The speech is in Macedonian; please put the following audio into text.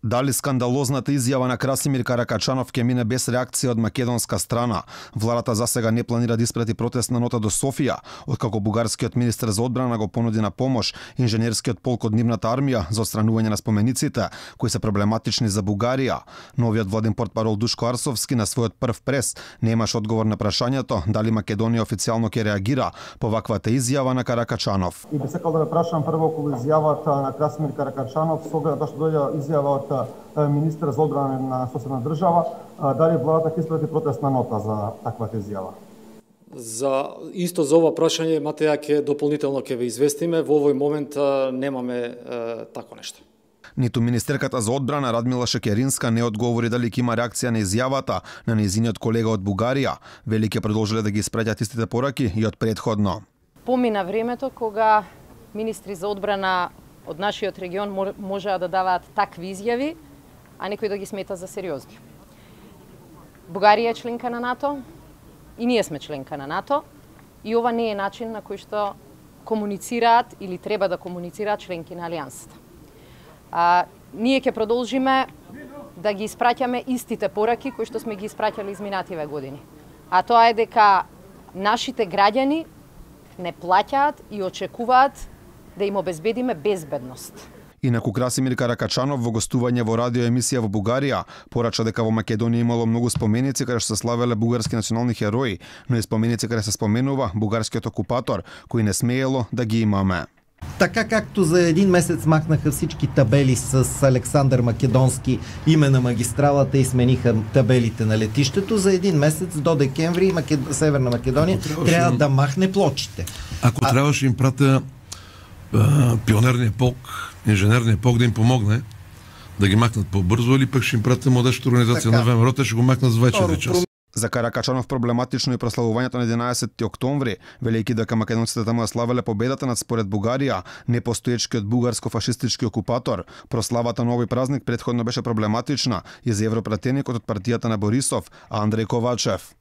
Дали скандалозната изјава на Красимир Каракачанов ќе мине без реакција од македонска страна? Владата засега не планира да испрати протестна нота до Софија, откако бугарскиот министер за одбрана го понуди на помош инженерскиот полк од нивната армија за отстранување на спомениците, кои се проблематични за Бугарија. Новиот владин портпарол Душко Арсовски на својот прв прес немаш одговор на прашањето дали Македонија официјално ќе реагира по ваквата изјава на Каракачанов. И би сакал да ве прашам прво околу изјавата на Красимир Каракачанов, со оглед да што дојде изјава од министер за одбрана на соседна држава, дали владата ќе испрати протестна нота за таквата изјава? За ова прашање, Матеја, ќе дополнително ќе ве известиме. Во овој момент немаме тако нешто. Ниту министерката за одбрана Радмила Шекеринска не одговори дали ќе има реакција на изјавата на нејзиниот колега од Бугарија. Вели ќе продолжиле да ги испраќаат истите пораки и од претходно. Помина времето кога министри за одбрана од нашиот регион можеа да даваат такви изјави, а некој да ги смета за сериозни. Бугарија е членка на НАТО и ние сме членка на НАТО и ова не е начин на кој што комуницираат или треба да комуницираат членки на Алијансата. Ние ќе продолжиме да ги испраќаме истите пораки кои што сме ги испраќали изминативе години. А тоа е дека нашите граѓани не плаќаат и очекуваат да им обезбедиме безбедност. Инаку Красимир Каракачанов во гостување во радиоемисија во Бугарија порача дека во Македонија имало многу споменици каде што се славеле бугарски национални херои, но и споменици каде се споменува бугарскиот окупатор, кој не смеело да ги имаме. Така както за един месец махнаха всички табели с Александър Македонски име на магистралата и смениха табелите на летището, за един месец до декември Северна Македония трябва да махне плочите. Ако трябваше им пратя пионерния полк, инженерния полк да им помогне да ги махнат по-бързо, или пък ще им пратя младежката организация на ВМРО, те ще го махнат за 24 часа. За Каракачанов проблематично и прославувањето на 11 октомври, велејќи дека македонците таму ја славеле победата над според Бугарија, непостоечкиот бугарско-фашистички окупатор. Прославата на овој празник претходно беше проблематична и за европратеникот од партијата на Борисов, Андреј Ковачев.